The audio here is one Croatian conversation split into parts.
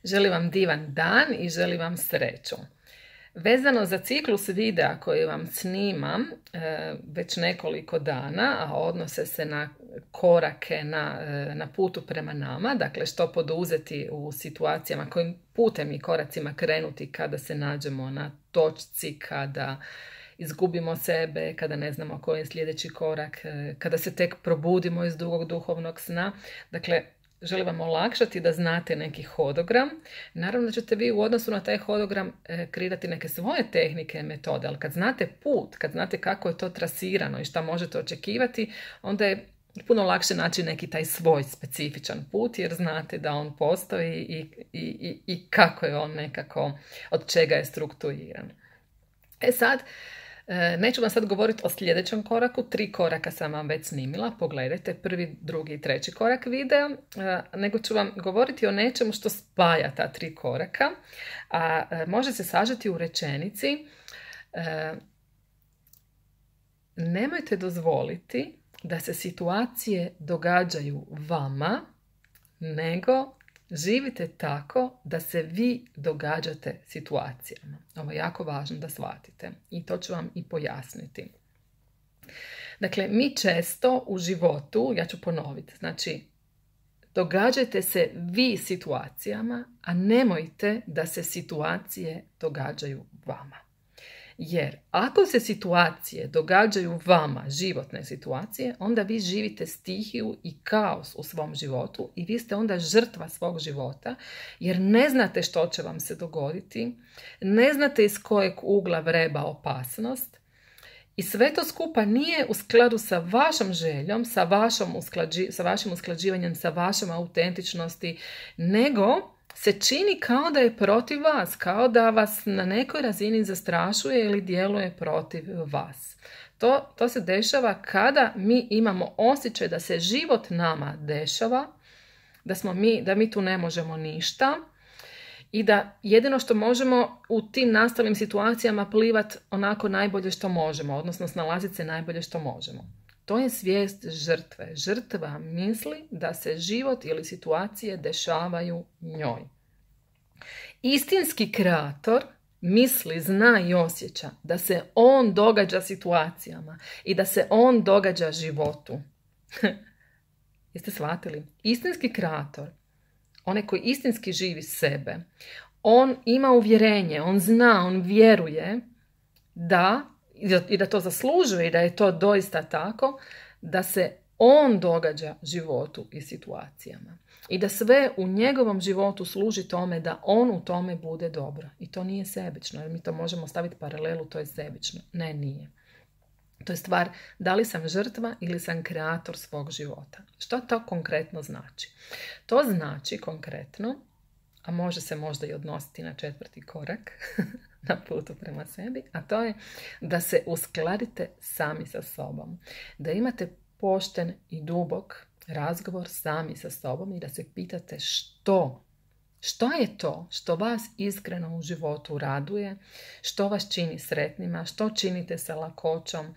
Želim vam divan dan i želim vam sreću. Vezano za ciklus videa koji vam snimam već nekoliko dana, a odnose se na korake na putu prema nama, dakle što poduzeti u situacijama, kojim putem i koracima krenuti kada se nađemo na točci, kada izgubimo sebe, kada ne znamo koji je sljedeći korak, kada se tek probudimo iz dugog duhovnog sna. Dakle, želim vam olakšati da znate neki hodogram. Naravno da ćete vi u odnosu na taj hodogram kreirati neke svoje tehnike, metode, ali kad znate put, kad znate kako je to trasirano i šta možete očekivati, onda je puno lakše naći neki taj svoj specifičan put, jer znate da on postoji i kako je on nekako, od čega je strukturiran. Sad, neću vam sad govoriti o sljedećem koraku, 3 koraka sam vam već snimila, pogledajte 1., 2. i 3. korak videa, nego ću vam govoriti o nečemu što spaja ta 3 koraka, a može se sažeti u rečenici: nemojte dozvoliti da se situacije događaju vama, nego živite tako da se vi događate situacijama. Ovo je jako važno da shvatite i to ću vam i pojasniti. Dakle, mi često u životu, ja ću ponoviti, znači događajte se vi situacijama, a nemojte da se situacije događaju vama. Jer ako se situacije događaju vama, životne situacije, onda vi živite stihiju i kaos u svom životu i vi ste onda žrtva svog života, jer ne znate što će vam se dogoditi, ne znate iz kojeg ugla vreba opasnost i sve to skupa nije u skladu sa vašom željom, sa vašim usklađivanjem, sa vašom autentičnosti, nego se čini kao da je protiv vas, kao da vas na nekoj razini zastrašuje ili djeluje protiv vas. To se dešava kada mi imamo osjećaj da se život nama dešava, da mi tu ne možemo ništa i da jedino što možemo u tim nastalim situacijama plivat onako najbolje što možemo, odnosno snalaziti se najbolje što možemo. To je svijest žrtve. Žrtva misli da se život ili situacije dešavaju njoj. Istinski kreator misli, zna i osjeća da se on događa situacijama i da se on događa životu. Jeste shvatili? Istinski kreator, onaj koji istinski živi sebe, on ima uvjerenje, on zna, on vjeruje i da to zaslužuje i da je to doista tako, da se on događa životu i situacijama. I da sve u njegovom životu služi tome da on u tome bude dobro. I to nije sebično, jer mi to možemo staviti paralelu, to je sebično. Ne, nije. To je stvar da li sam žrtva ili sam kreator svog života. Što to konkretno znači? To znači konkretno, a može se možda i odnositi na 4. korak na putu prema sebi, a to je da se uskladite sami sa sobom. Da imate pošten i dubok razgovor sami sa sobom i da se pitate što je to što vas iskreno u životu raduje, što vas čini sretnima, što činite sa lakoćom,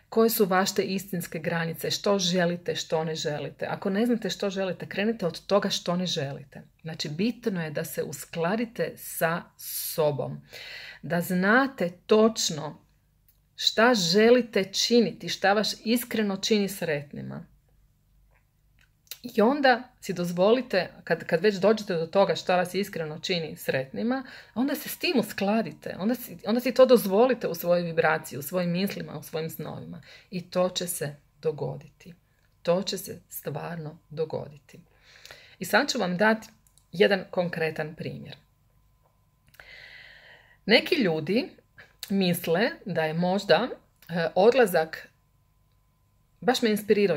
koje su vaše istinske granice, što želite, što ne želite. Ako ne znate što želite, krenite od toga što ne želite. Znači, bitno je da se uskladite sa sobom, da znate točno šta želite činiti, šta vas iskreno čini sretnima. I onda si dozvolite, kad već dođete do toga šta vas iskreno čini sretnima, onda se s tim uskladite, onda si to dozvolite u svojoj vibraciji, u svojim mislima, u svojim snovima. I to će se dogoditi. To će se stvarno dogoditi. I sad ću vam dati jedan konkretan primjer. Neki ljudi misle da je možda odlazak, baš me inspirirao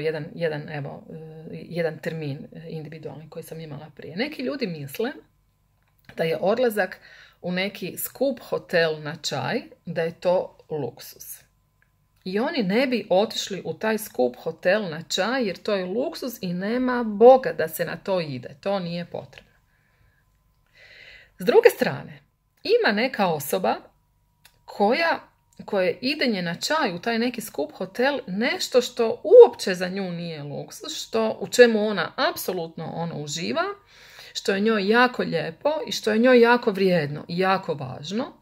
jedan termin individualni koji sam imala prije. Neki ljudi misle da je odlazak u neki skup hotel na čaj, da je to luksus. I oni ne bi otišli u taj skup hotel na čaj jer to je luksus i nema Boga da se na to ide. To nije potrebno. S druge strane, ima neka osoba koje idenje na čaj u taj neki skup hotel nešto što uopće za nju nije luksus, u čemu ona apsolutno uživa, što je njoj jako lijepo i što je njoj jako vrijedno i jako važno.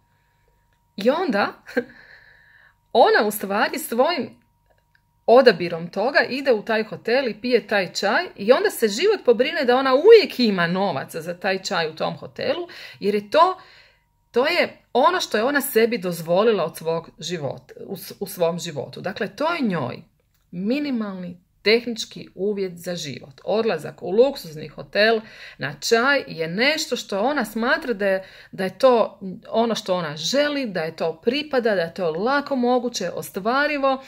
I onda ona u stvari svojim odabirom toga ide u taj hotel i pije taj čaj i onda se život pobrine da ona uvijek ima novaca za taj čaj u tom hotelu, jer je to je ono što je ona sebi dozvolila od svog života, u svom životu. Dakle, to je njoj minimalni tehnički uvjet za život. Odlazak u luksuzni hotel na čaj je nešto što ona smatra da je to ono što ona želi, da je to pripada, da je to lako moguće, ostvarivo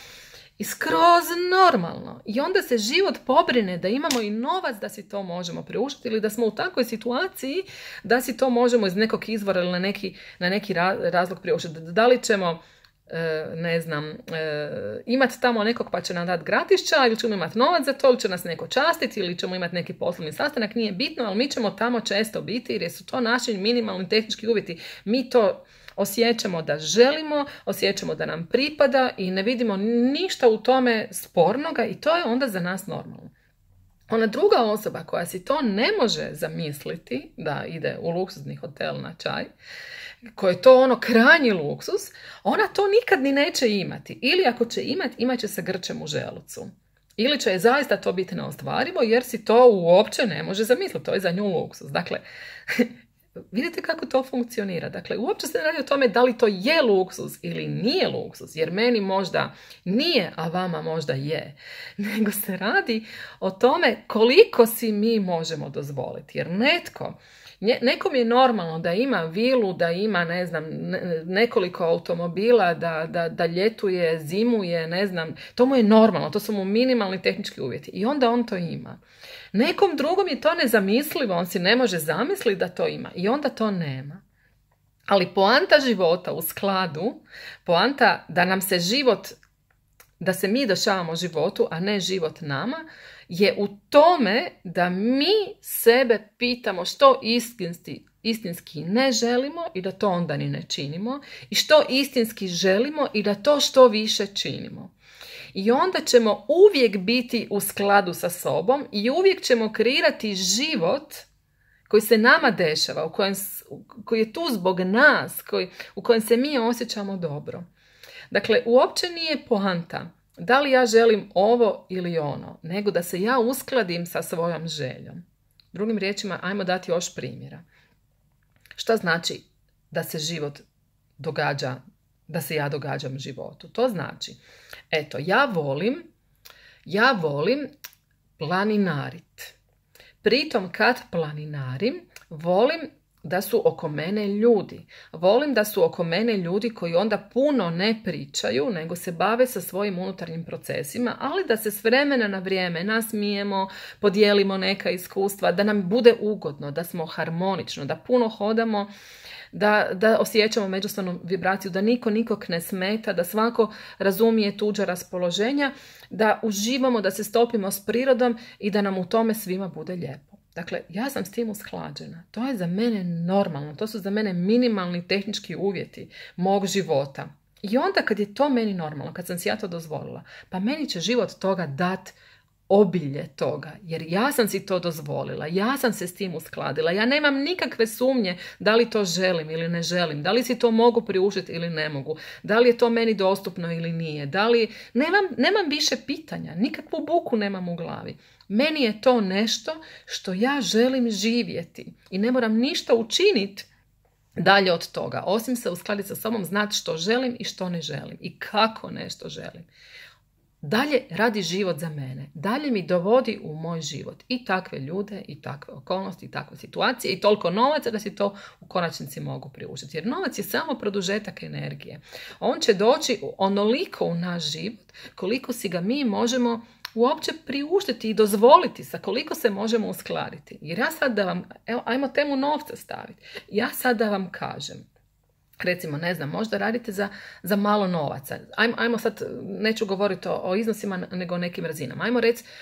i skroz normalno. I onda se život pobrine da imamo i novac da si to možemo priuštiti ili da smo u takvoj situaciji da si to možemo iz nekog izvora ili na neki razlog priuštiti. Da li ćemo imati tamo nekog pa će nam dati gratis čaj ili ćemo imati novac za to ili će nas neko častiti ili ćemo imati neki poslovni sastanak, nije bitno, ali mi ćemo tamo često biti jer su to naši minimalni tehnički uvjeti. Mi to osjećamo da želimo, osjećamo da nam pripada i ne vidimo ništa u tome spornoga i to je onda za nas normalno. Ona druga osoba koja si to ne može zamisliti da ide u luksuzni hotel na čaj, koji je to ono krajnji luksus, ona to nikad ni neće imati. Ili ako će imati, imat će sa grčem u želucu. Ili će je zaista to biti neostvarivo jer si to uopće ne može zamisliti. To je za nju luksus. Dakle, vidite kako to funkcionira. Dakle, uopće se ne radi o tome da li to je luksus ili nije luksus, jer meni možda nije, a vama možda je. Nego se radi o tome koliko si mi možemo dozvoliti. Jer nekom je normalno da ima vilu, da ima, nekoliko automobila, da ljetuje, zimuje, to mu je normalno, to su mu minimalni tehnički uvjeti. I onda on to ima. Nekom drugom je to nezamislivo, on si ne može zamisliti da to ima i onda to nema. Ali poanta života u skladu, poanta da nam se život, da se mi dešavamo životu, a ne život nama, je u tome da mi sebe pitamo što istinski ne želimo i da to onda ni ne činimo i što istinski želimo i da to što više činimo. I onda ćemo uvijek biti u skladu sa sobom i uvijek ćemo kreirati život koji se nama dešava, koji je tu zbog nas, u kojem se mi osjećamo dobro. Dakle, uopće nije poanta da li ja želim ovo ili ono, nego da se ja uskladim sa svojom željom. Drugim riječima, ajmo dati još primjera. Šta znači da se život događa, da se ja događam životu? To znači, eto, ja volim planinarit. Pritom kad planinarim, volim da su oko mene ljudi. Volim da su oko mene ljudi koji onda puno ne pričaju, nego se bave sa svojim unutarnjim procesima, ali da se s vremena na vrijeme nasmijemo, podijelimo neka iskustva, da nam bude ugodno, da smo harmonično, da puno hodamo, da osjećamo međusobnu vibraciju, da niko nikog ne smeta, da svako razumije tuđa raspoloženja, da uživamo, da se stopimo s prirodom i da nam u tome svima bude lijepo. Dakle, ja sam s tim usklađena. To je za mene normalno. To su za mene minimalni tehnički uvjeti mog života. I onda kad je to meni normalno, kad sam si ja to dozvolila, pa meni će život toga dat obilje toga. Jer ja sam si to dozvolila. Ja sam se s tim uskladila. Ja nemam nikakve sumnje da li to želim ili ne želim. Da li si to mogu priuštiti ili ne mogu. Da li je to meni dostupno ili nije. Nemam više pitanja. Nikakvu buku nemam u glavi. Meni je to nešto što ja želim živjeti i ne moram ništa učiniti dalje od toga, osim se uskladiti sa sobom, znati što želim i što ne želim i kako nešto želim. Dalje radi život za mene, dalje mi dovodi u moj život i takve ljude i takve okolnosti i takve situacije i toliko novaca da si to u konačnici mogu priuštiti. Jer novac je samo produžetak energije. On će doći onoliko u naš život koliko si ga mi možemo uopće priuštiti i dozvoliti, sa koliko se možemo uskladiti. Jer ja sad da vam, ajmo temu novca staviti. Ja sad da vam kažem, recimo, možda radite za malo novaca. Ajmo sad, neću govoriti o iznosima, nego o nekim razinama. Ajmo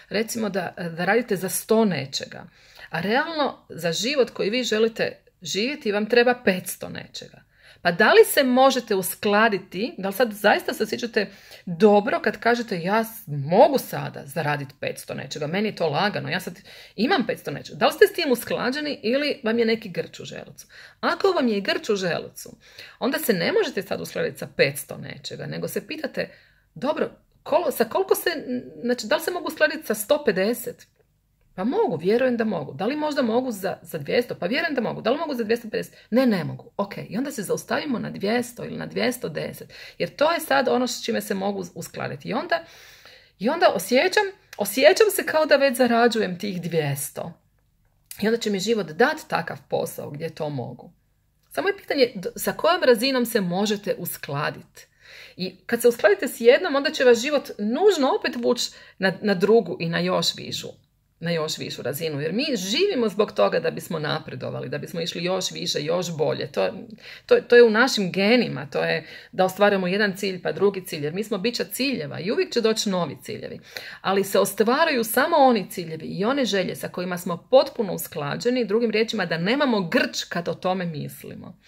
recimo da radite za 100 nečega. A realno, za život koji vi želite živjeti vam treba 500 nečega. Pa da li se možete uskladiti, da li sad zaista se osjećate dobro kad kažete ja mogu sada zaraditi 500 nečega, meni je to lagano, ja sad imam 500 nečega. Da li ste s tim usklađeni ili vam je neki grč u želucu? Ako vam je grč u želucu, onda se ne možete sad uskladiti sa 500 nečega, nego se pitate, dobro, sa koliko se, znači da li se mogu uskladiti sa 150? Pa mogu, vjerujem da mogu. Da li možda mogu za 200? Pa vjerujem da mogu. Da li mogu za 250? Ne mogu. Ok, i onda se zaustavimo na 200 ili na 210. Jer to je sad ono s čime se mogu uskladiti. I onda osjećam se kao da već zarađujem tih 200. I onda će mi život dati takav posao gdje to mogu. Samo je pitanje sa kojom razinom se možete uskladiti. I kad se uskladite s jednom, onda će vas život nužno opet vući na drugu i na još višu razinu. Jer mi živimo zbog toga da bismo napredovali, da bismo išli još više, još bolje. To je u našim genima, to je da ostvarujemo jedan cilj pa drugi cilj. Jer mi smo bića ciljeva i uvijek će doći novi ciljevi. Ali se ostvaraju samo oni ciljevi i one želje sa kojima smo potpuno usklađeni, drugim riječima da nemamo grč kad o tome mislimo.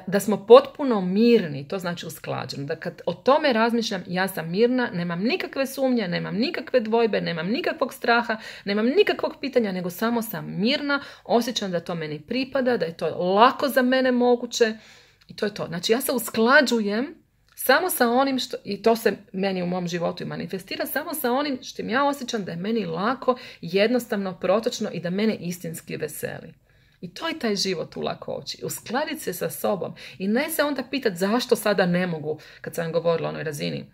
Da smo potpuno mirni, to znači usklađeni. Da kad o tome razmišljam, ja sam mirna, nemam nikakve sumnje, nemam nikakve dvojbe, nemam nikakvog straha, nemam nikakvog pitanja, nego samo sam mirna, osjećam da to meni pripada, da je to lako za mene moguće i to je to. Znači ja se usklađujem samo sa onim što, i to se meni u mom životu i manifestira, samo sa onim što ja osjećam da je meni lako, jednostavno, protočno i da mene istinski veseli. I to je taj život u lakoći. Uskladiti se sa sobom. I ne se onda pitati zašto sada ne mogu, kad sam govorila o onoj razini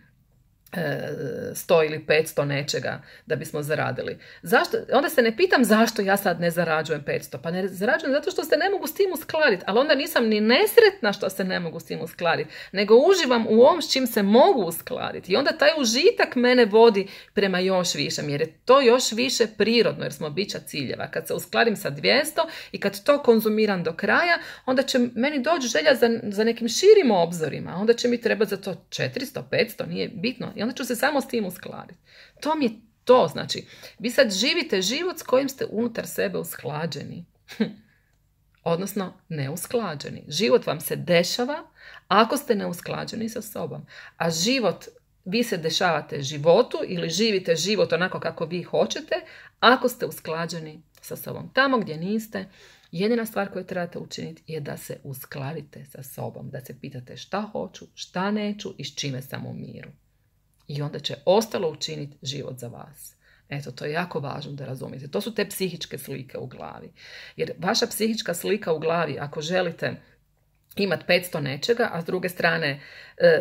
100 ili 500 nečega da bismo zaradili. Zašto? Onda se ne pitam zašto ja sad ne zarađujem 500. Pa ne zarađujem zato što se ne mogu s tim uskladiti. Ali onda nisam ni nesretna što se ne mogu s tim uskladiti. Nego uživam u ovom s čim se mogu uskladiti. I onda taj užitak mene vodi prema još višem. Jer je to još više prirodno jer smo bića ciljeva. Kad se uskladim sa 200 i kad to konzumiram do kraja, onda će meni doći želja za nekim širim obzorima. Onda će mi trebati za to 400, 500, nije bitno. I onda ću se samo s tim uskladiti. To mi je to, znači, vi sad živite život s kojim ste unutar sebe usklađeni. Odnosno, neusklađeni. Život vam se dešava ako ste neusklađeni sa sobom. A vi se dešavate životu ili živite život onako kako vi hoćete ako ste usklađeni sa sobom. Tamo gdje niste, jedina stvar koju trebate učiniti je da se uskladite sa sobom. Da se pitate šta hoću, šta neću i s čime sam u miru. I onda će ostalo učiniti život za vas. Eto, to je jako važno da razumijete. To su te psihičke slike u glavi. Jer vaša psihička slika u glavi, ako želite imati 500 nečega, a s druge strane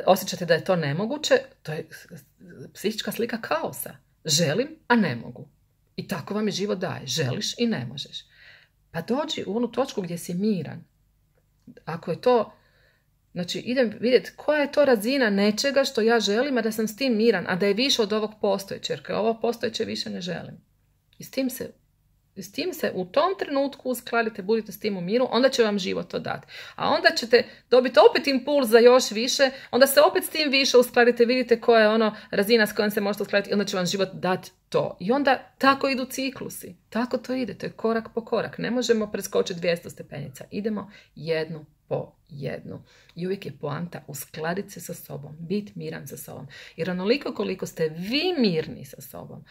osjećate da je to nemoguće, to je psihička slika kaosa. Želim, a ne mogu. I tako vam je život daje. Želiš i ne možeš. Pa dođi u onu točku gdje si miran. Ako je to... Znači, idem vidjeti koja je to razina nečega što ja želim, a da sam s tim miran, a da je više od ovog postojeće, jer ovo postojeće više ne želim. I s tim se u tom trenutku uskladite, budite s tim u miru, onda će vam život to dati. A onda ćete dobiti opet impuls za još više, onda se opet s tim više uskladite, vidite koja je ono razina s kojom se možete uskladiti i onda će vam život dati to. I onda tako idu ciklusi. Tako to ide, to je korak po korak. Ne možemo preskočiti 200 stepenica. Idemo jednu po jednu. I uvijek je poanta uskladiti se sa sobom, biti miran sa sobom. Jer onoliko koliko ste vi mirni sa sobom,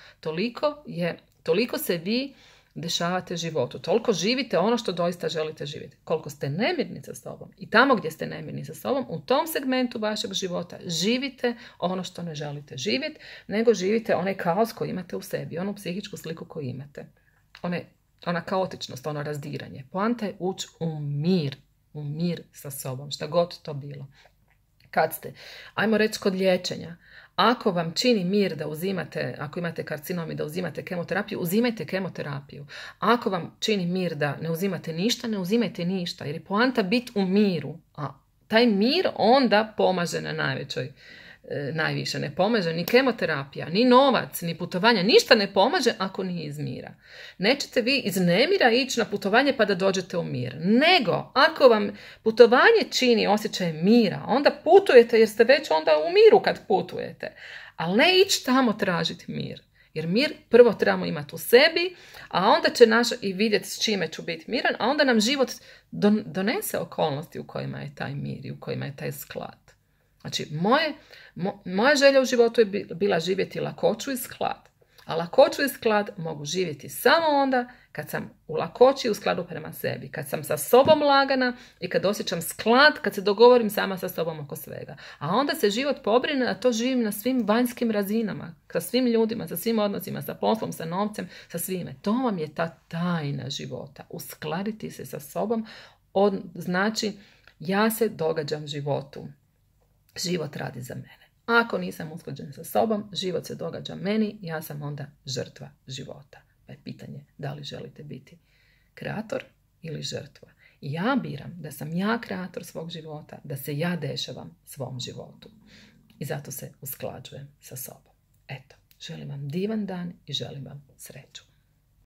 toliko se vi dešavate životu. Toliko živite ono što doista želite živjeti. Koliko ste nemirni sa sobom i tamo gdje ste nemirni sa sobom, u tom segmentu vašeg života živite ono što ne želite živjeti, nego živite onaj kaos koji imate u sebi, onu psihičku sliku koju imate. Ona kaotičnost, ono razdiranje. Poanta je ući u mir sa sobom, šta god to bilo. Kad ste, ajmo reći kod liječenja, ako vam čini mir da uzimate, ako imate karcinom i da uzimate kemoterapiju, uzimajte kemoterapiju. Ako vam čini mir da ne uzimate ništa, ne uzimajte ništa, jer je poanta biti u miru. A taj mir onda pomaže na najviše. Ne pomaže ni kemoterapija, ni novac, ni putovanja. Ništa ne pomaže ako nije iz mira. Nećete vi iz nemira ići na putovanje pa da dođete u mir. Nego, ako vam putovanje čini osjećaj mira, onda putujete jer ste već onda u miru kad putujete. Ali ne ići tamo tražiti mir. Jer mir prvo trebamo imati u sebi, a onda će i vidjeti s čime ću biti miran, a onda nam život donese okolnosti u kojima je taj mir i u kojima je taj sklad. Znači, moja želja u životu je bila živjeti lakoću i sklad. A lakoću i sklad mogu živjeti samo onda kad sam u lakoći i u skladu prema sebi. Kad sam sa sobom lagana i kad osjećam sklad, kad se dogovorim sama sa sobom oko svega. A onda se život pobrine, a to živim na svim vanjskim razinama. Sa svim ljudima, sa svim odnosima, sa poslom, sa novcem, sa svime. To vam je ta tajna života. Uskladiti se sa sobom znači ja se događam životu. Život radi za mene. Ako nisam usklađen sa sobom, život se događa meni, ja sam onda žrtva života. Pa je pitanje da li želite biti kreator ili žrtva. I ja biram da sam ja kreator svog života, da se ja dešavam svom životu. I zato se usklađujem sa sobom. Eto, želim vam divan dan i želim vam sreću.